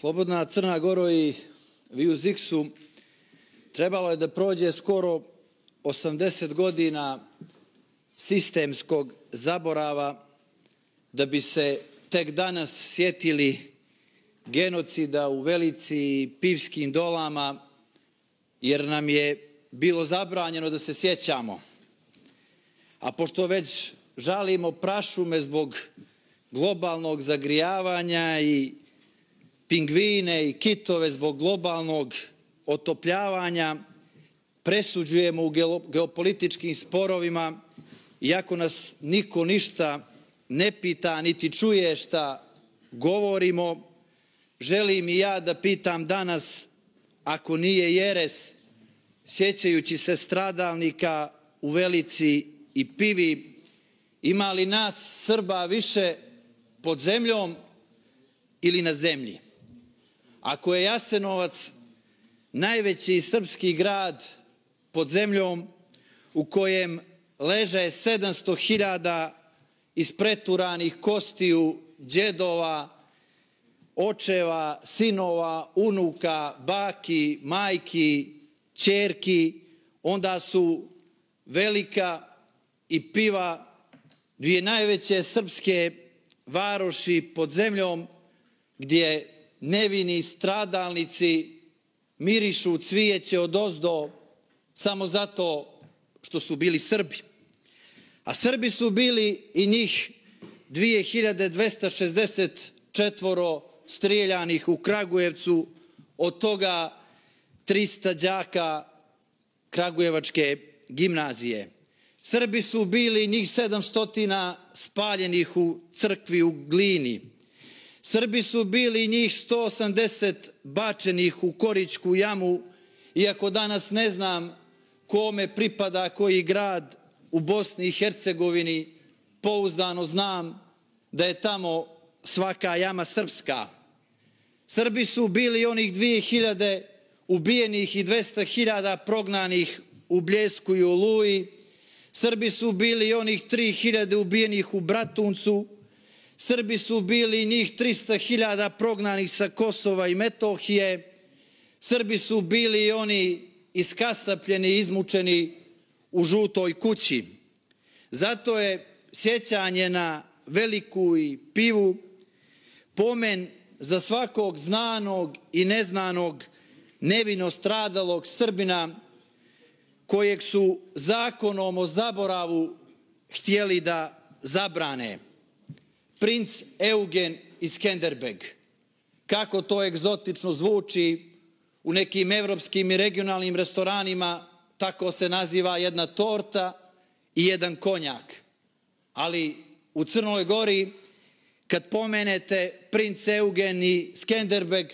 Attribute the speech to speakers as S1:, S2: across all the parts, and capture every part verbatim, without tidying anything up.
S1: Slobodna Crna Goro i vi u Ziksu trebalo je da prođe skoro osamdeset godina sistemskog zaborava da bi se tek danas sjetili genocida u Velici i Pivskim dolama, jer nam je bilo zabranjeno da se sjećamo. A pošto već žalimo prašume zbog globalnog zagrijavanja i pingvine i kitove zbog globalnog otopljavanja, presuđujemo u geopolitičkim sporovima, iako nas niko ništa ne pita niti čuje šta govorimo, želim i ja da pitam danas, ako nije jeres, sjećajući se stradalnika u Velici i Pivi, ima li nas Srba više pod zemljom ili na zemlji? Ako je Jasenovac najveći srpski grad pod zemljom u kojem leže sedamsto hiljada ispreturanih kostiju djedova, očeva, sinova, unuka, baki, majki, ćerki, onda su Velika i Piva dvije najveće srpske varoši pod zemljom gdje nevini stradalnici mirišu cvijeće odozdo samo zato što su bili Srbi. A Srbi su bili i njih dvije hiljade dvesta šezdeset četvoro strijeljanih u Kragujevcu, od toga trista đaka Kragujevačke gimnazije. Srbi su bili njih sedamsto spaljenih u crkvi u Glini. Srbi su bili njih sto osamdeset bačenih u Koričku jamu, iako danas ne znam kome pripada koji grad u Bosni i Hercegovini, pouzdano znam da je tamo svaka jama srpska. Srbi su bili onih dvije hiljade ubijenih i dvesta hiljada prognanih u Bljesku i Oluji. Srbi su bili onih tri hiljade ubijenih u Bratuncu. Srbi su bili njih trista hiljada prognanih sa Kosova i Metohije. Srbi su bili oni iskasapljeni i izmučeni u Žutoj kući. Zato je sjećanje na Veliku i Pivu pomen za svakog znanog i neznanog nevino stradalog Srbina kojeg su zakonom o zaboravu htjeli da zabrane. Princ Eugen iz Skenderbeg. Kako to egzotično zvuči, u nekim evropskim i regionalnim restoranima tako se naziva jedna torta i jedan konjak. Ali u Crnoj Gori, kad pomenete princ Eugen i Skenderbeg,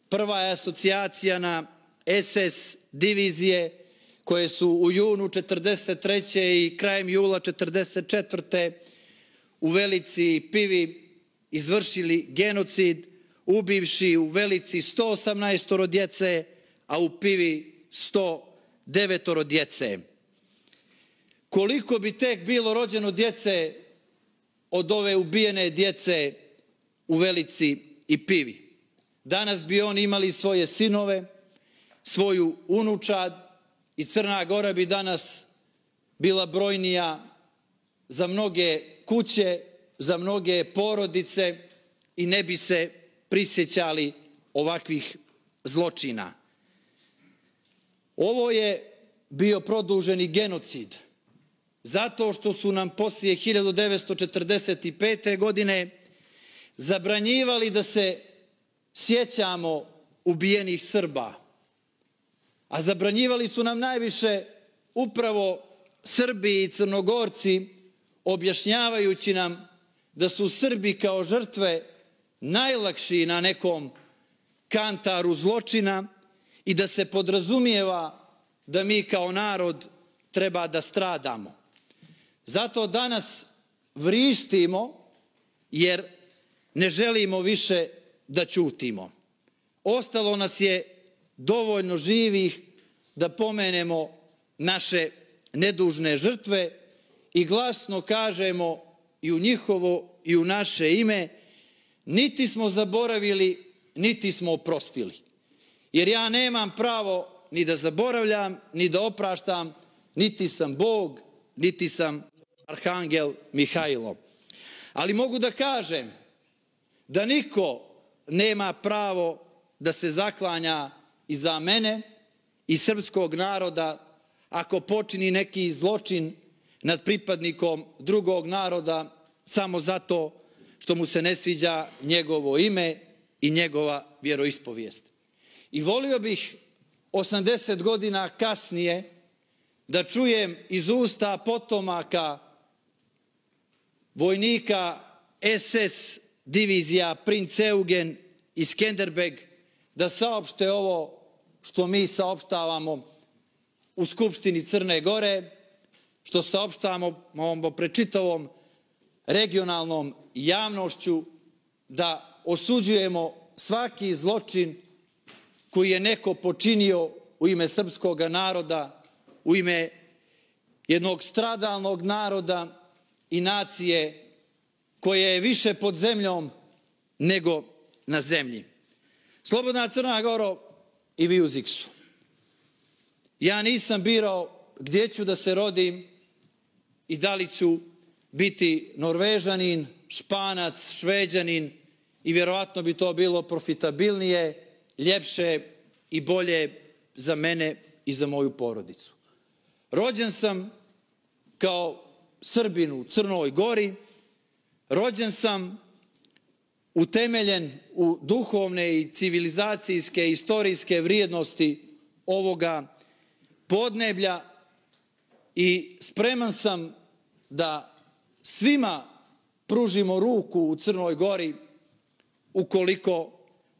S1: prva je asocijacija na es es divizije koje su u junu četrdeset treće i krajem jula četrdeset četvrte u Velici i Pivi izvršili genocid, ubivši u Velici sto osamnaest djece, a u Pivi sto devet djece. Koliko bi tek bilo rođeno djece od ove ubijene djece u Velici i Pivi? Danas bi oni imali svoje sinove, svoju unučad i Crna Gora bi danas bila brojnija za mnoge kuće, za mnoge porodice i ne bi se prisjećali ovakvih zločina. Ovo je bio produženi genocid, zato što su nam poslije hiljadu devetsto četrdeset pete. godine zabranjivali da se sjećamo ubijenih Srba. A zabranjivali su nam najviše upravo Srbi i Crnogorci, objašnjavajući nam da su Srbi kao žrtve najlakši na nekom kantaru zločina i da se podrazumijeva da mi kao narod treba da stradamo. Zato danas vrištimo jer ne želimo više da ćutimo. Ostalo nas je dovoljno živih da pomenemo naše nedužne žrtve i glasno kažemo i u njihovo i u naše ime, niti smo zaboravili niti smo oprostili. Jer ja nemam pravo ni da zaboravljam, ni da opraštam, niti sam Bog, niti sam Arhangel Mihajlo. Ali mogu da kažem da niko nema pravo da se zaklanja iza mene i srpskog naroda ako počini neki zločin nad pripadnikom drugog naroda samo zato što mu se ne sviđa njegovo ime i njegova vjeroispovijest. I volio bih osamdeset godina kasnije da čujem iz usta potomaka vojnika es es divizija Princ Eugen i Skenderbeg da saopšte ovo što mi saopštavamo u Skupštini Crne Gore, što saopštavamo pred čitavom regionalnom javnošću, da osuđujemo svaki zločin koji je neko počinio u ime srpskog naroda, u ime jednog stradalnog naroda i nacije koja je više pod zemljom nego na zemlji. Slobodna Crna Goro i vi u Ziksu. Ja nisam birao gdje ću da se rodim i da li ću biti Norvežanin, Španac, Šveđanin i vjerovatno bi to bilo profitabilnije, ljepše i bolje za mene i za moju porodicu. Rođen sam kao Srbin u Crnoj Gori, rođen sam utemeljen u duhovne i civilizacijske i istorijske vrijednosti ovoga podneblja i spreman sam da svima pružimo ruku u Crnoj Gori ukoliko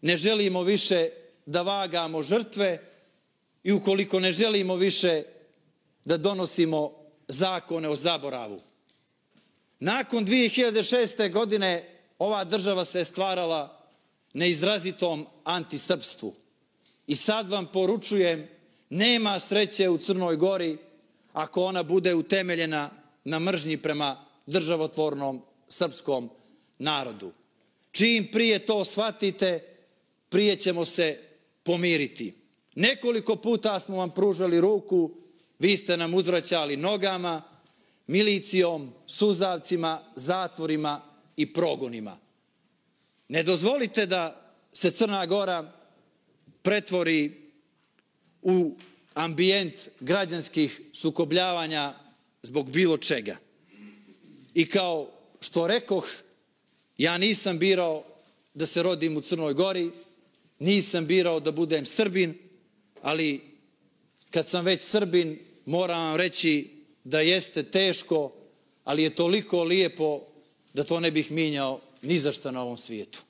S1: ne želimo više da vagamo žrtve i ukoliko ne želimo više da donosimo zakone o zaboravu. Nakon dvije hiljade šeste. godine ova država se stvarala na izrazitom antisrpstvu. I sad vam poručujem, nema sreće u Crnoj Gori ako ona bude utemeljena na mržnji prema državotvornom srpskom narodu. Čim prije to shvatite, prije ćemo se pomiriti. Nekoliko puta smo vam pružali ruku, vi ste nam uzvraćali nogama, milicijom, suzavcima, zatvorima i progonima. Ne dozvolite da se Crna Gora pretvori u ambijent građanskih sukobljavanja zbog bilo čega. I kao što rekoh, ja nisam birao da se rodim u Crnoj Gori, nisam birao da budem Srbin, ali kad sam već Srbin, moram vam reći da jeste teško, ali je toliko lijepo da to ne bih mijenjao ni za šta na ovom svijetu.